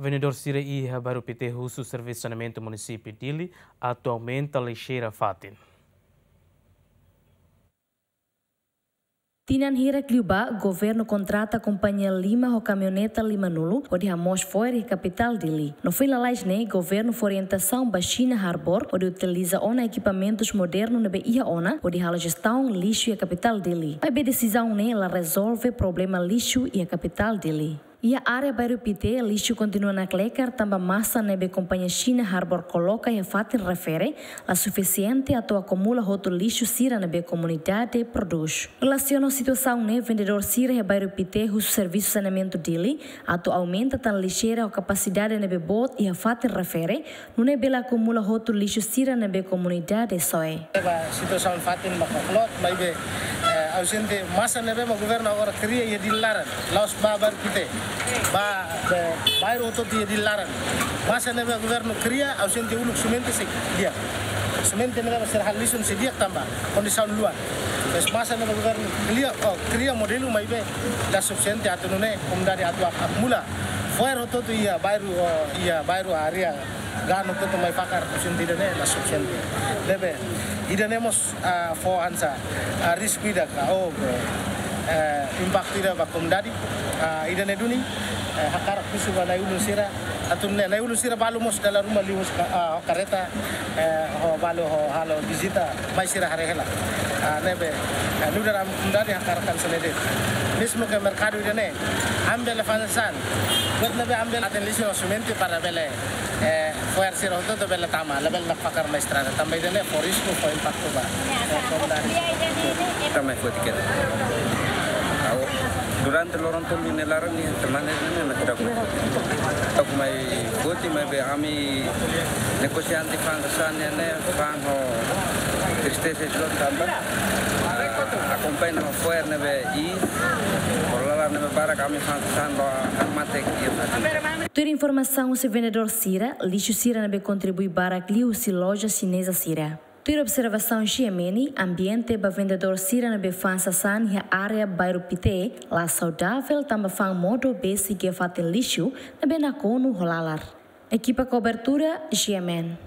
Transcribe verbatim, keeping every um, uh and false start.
Vendedór sira iha bairru Pité husu Servisu Saneamentu Munisípiu Dili atu aumenta lixeira fatin. Tinan hirak liubá, governu kontrata kompañia lima ho kamioneta lima-nulu hodi hamoos fo'er iha kapitál Dili. No foin lalais ne'e, governu fó orientasaun ba China Harbour hodi utiliza ona ekipamentus modernu ne'ebé iha ona hodi halo jestaun lixu iha kapitál Dili. Maibé desizaun ne'e la rezolve problema lixu iha kapitál Dili. Iha área bairru Pité, lixu kontinua nakleker tanba masa ne'ebé kompañia China Harbour koloka iha fatin refere la sufisiente atu akumula hotu lixu sira ne'ebé komunidade prodús. Relasiona ho situasaun ne'e, vendedór sira iha bairru Pité husu Servisu Saneamentu Dili atu aumenta tan lixeira ho kapasidade ne'ebé boot iha fatin refere, nune'e bele akumula hotu lixu sira ne'ebé komunidade soe. Ba situasaun fatin maka klot, maibé, eh, ausente masa ne'ebé mak governu agora kria iha Dili laran, la'ós ba bairru Pité, ba, be, bairru hotu-hotu iha Dili laran. Masa ne'ebé governu kria, ausente uluk simente sei di'ak. Simente ne'ebé mak sira halo lixun sei di'ak tanba kondisaun luan. Mas masa ne'ebé governu kria, oh, kria modelu maibé la sufisiente atu nune'e komunidade atu ak-, akumula fo'er hotu-hotu iha bairru, oh, iha bairru área gano hotu-hotu mai fakar, ausente ida-ne'e la sufisiente. Ne'ebé ida-ne'e mós, ah, fó hanesan, ah, risku ida ka, oh, eh, impaktu ida ba komunidade, ah, ida-ne'e duni, eh, hakarak husu ba na'i-ulun sira, atu nune'e na'i-ulun sira balu mós dala ruma liu husi ka-, ah, kareta, eh, ho balu ho halo vizita, mai sira haree hela. Ah, ne'ebé, eh, nu'udar ami komunidade hakarak hanesan ne'e de'it. Mezmu ke merkadu ida-ne'e, ami bele fa'an sasán. Buat ne'ebé ami bele aten lixu no simente para bele, eh, fo'er sira hotu-hotu bele tama, labele nakfakar mai estrada. Tanba ida-ne'e fó risku, fó impaktu ba, eh, komunidade. Tama foti keta. Au, durante loron tolu ne'e laran ne'e, semana ne'e, ne'e, ne'e, tidak. Aku mai foti, maibé ami negosiante fa'an sasán ne'e, ne'e, fa'an ho tristeza loos tanba, ah, akompaña ho fo'er ne'ebé iis, ho lalar ne'ebé barak, ami fa'an sasán ba, ah, mate iha fatin. Tuir informasaun husi vendedór sira, lixu sira ne'ebé kontribui barak liu husi loja xineza sira. Tuir observasaun G M N, ambiente ba vendedór sira ne'ebé fa'an sasán iha área bairru Pité la saudavel tanba fa'an modo besik iha fatin lixu ne'ebé nakonu ho lalar. Ekipa kobertura, G M N.